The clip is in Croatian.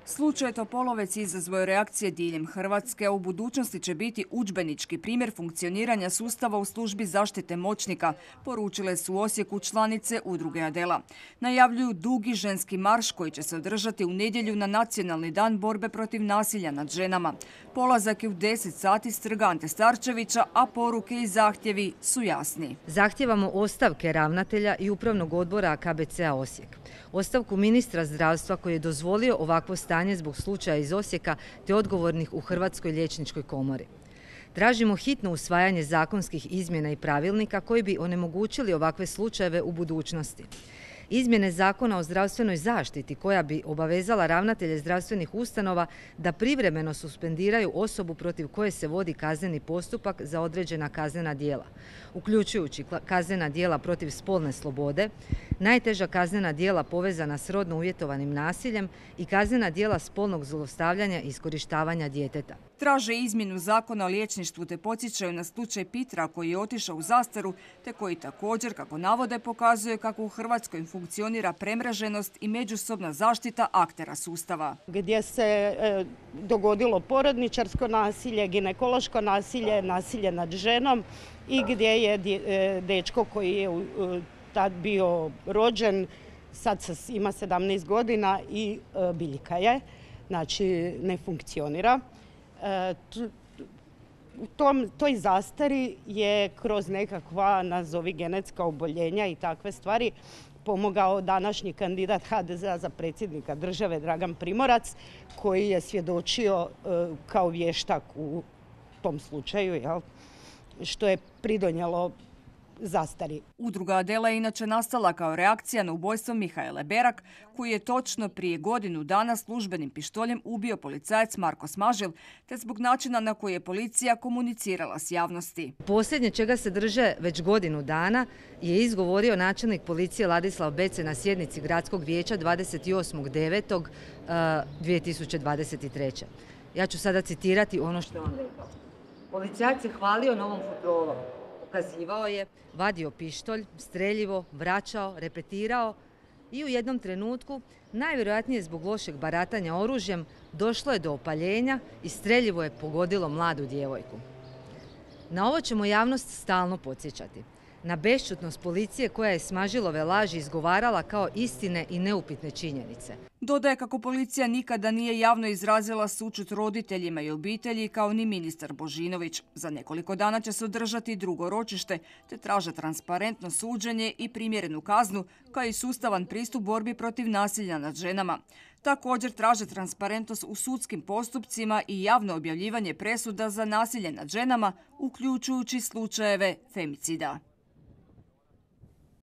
Slučaj Topolovec izazvao je reakcije diljem Hrvatske, a u budućnosti će biti udžbenički primjer funkcioniranja sustava u službi zaštite moćnika, poručile su u Osijeku članice udruge Adela. Najavljuju dugi ženski marš koji će se održati u nedjelju na Nacionalni dan borbe protiv nasilja nad ženama. Polazak je u 10 sati s Trga Ante Starčevića, a poruke i zahtjevi su jasni. Zahtijevamo ostavke ravnatelja i upravnog odbora KBC-a Osijek. Ostavku ministra zdravstva koji je dozvolio ovakvo stanje zbog slučaja iz Osijeka te odgovornih u Hrvatskoj liječničkoj komori. Tražimo hitno usvajanje zakonskih izmjena i pravilnika koji bi onemogućili ovakve slučajeve u budućnosti. Izmjene Zakona o zdravstvenoj zaštiti koja bi obavezala ravnatelje zdravstvenih ustanova da privremeno suspendiraju osobu protiv koje se vodi kazneni postupak za određena kaznena djela, uključujući kaznena djela protiv spolne slobode, najteža kaznena djela povezana s rodno uvjetovanim nasiljem i kaznena djela spolnog zlostavljanja i iskorištavanja djeteta. Traže izmjenu Zakona o liječništvu te podsjećaju na slučaj Pitra koji je otišao u zastaru te koji također, kako navode, pokazuje kako u Hrvatskoj funkcionira premreženost i međusobna zaštita aktera sustava. Gdje se dogodilo porodničarsko nasilje, ginekološko nasilje, nasilje nad ženom i gdje je dečko koji je tad bio rođen, sad ima 17 godina i biljka je, znači ne funkcionira. U toj zastari je kroz nekakva, nazovi, genetska oboljenja i takve stvari pomogao današnji kandidat HDZ-a za predsjednika države Dragan Primorac, koji je svjedočio kao vještak u tom slučaju, što je pridonijelo zastari. Udruga Adela je inače nastala kao reakcija na ubojstvo Mihaele Berak, koji je točno prije godinu dana službenim pištoljem ubio policajac Marko Smažil, te zbog načina na koji je policija komunicirala s javnosti. Posljednje čega se drže već godinu dana je izgovorio načelnik policije Ladislav Bece na sjednici Gradskog vijeća 28.9.2023. Ja ću sada citirati ono što je on rekao. Policajac je hvalio novom futrolom. Ukazivao je, vadio pištolj, streljivo, vraćao, repetirao i u jednom trenutku, najvjerojatnije zbog lošeg baratanja oružjem, došlo je do opaljenja i streljivo je pogodilo mladu djevojku. Na ovo ćemo javnost stalno podsjećati. Na bešćutnost policije koja je Smažilove laži izgovarala kao istine i neupitne činjenice. Dodaje kako policija nikada nije javno izrazila sućut roditeljima i obitelji kao ni ministar Božinović. Za nekoliko dana će se održati drugo ročište te traže transparentno suđenje i primjerenu kaznu kao i sustavan pristup borbi protiv nasilja nad ženama. Također traže transparentnost u sudskim postupcima i javno objavljivanje presuda za nasilje nad ženama, uključujući slučajeve femicida.